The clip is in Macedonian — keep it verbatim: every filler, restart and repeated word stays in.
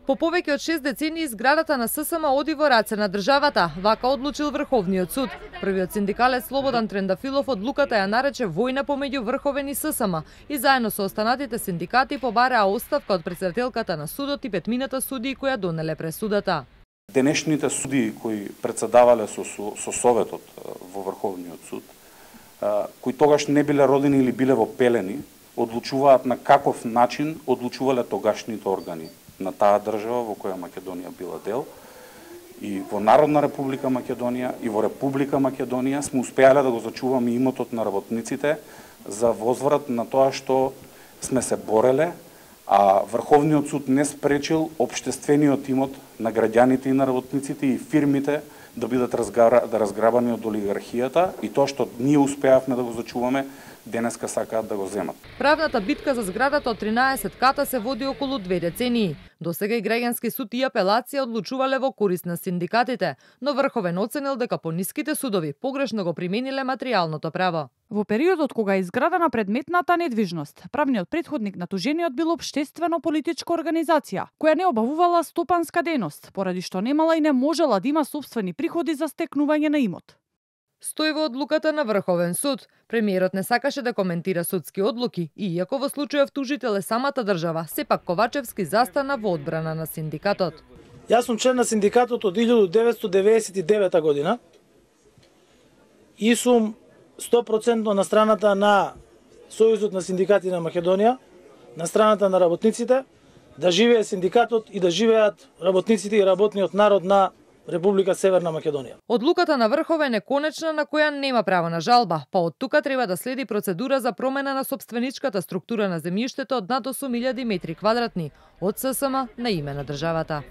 По повеќе од шест децении зградата на ССМ оди во раце на државата, вака одлучил Врховниот суд. Првиот синдикалец Слободан Трендафилов одлуката ја нарече војна помеѓу Врховен и ССМ и заедно со останатите синдикати побараа оставка од претседателката на судот и петмината судии кои ја донеле пресудата. Денешните судии кои претседавале со, со, со советот во Врховниот суд, кои тогаш не биле родени или биле во пелени, одлучуваат на каков начин одлучувале тогашните органи на таа држава во која Македонија била дел. И во Народна република Македонија и во Република Македонија сме успеале да го зачуваме имотот на работниците за возврат на тоа што сме се бореле, а Врховниот суд не спречил општествениот имот на граѓаните и на работниците и фирмите да бидат да разграбани од олигархијата и тоа што ние успеавме да го зачуваме, денеска сакаат да го земат. Правната битка за зградата од тринаесет ката се води околу две децении. Досега и граѓански суд и апелација одлучувале во корист на синдикатите, но Врховен оценил дека по ниските судови погрешно го примениле материјалното право. Во периодот кога е изградена предметната недвижност, правниот претходник на тужениот бил општествено-политичка организација, која не обавувала стопанска дејност, поради што немала и не можела да има сопствени приходи за стекнување на имот. Стои во одлуката на Врховен суд. Премиерот не сакаше да коментира судски одлуки, иако во случајов тужител е самата држава, сепак Ковачевски застана во одбрана на синдикатот. Јас сум член на синдикатот од илјадум деветстотини деветдесет и девета година и сум сто проценти на страната на Сојузот на синдикати на Македонија, на страната на работниците, да живее синдикатот и да живеат работниците и работниот народ на Република Северна Македонија. Одлуката на Врховен е конечна на која нема право на жалба, па од тука треба да следи процедура за промена на сопственичката структура на земјиштето од над осум илјади метри квадратни од ССМ на име на државата.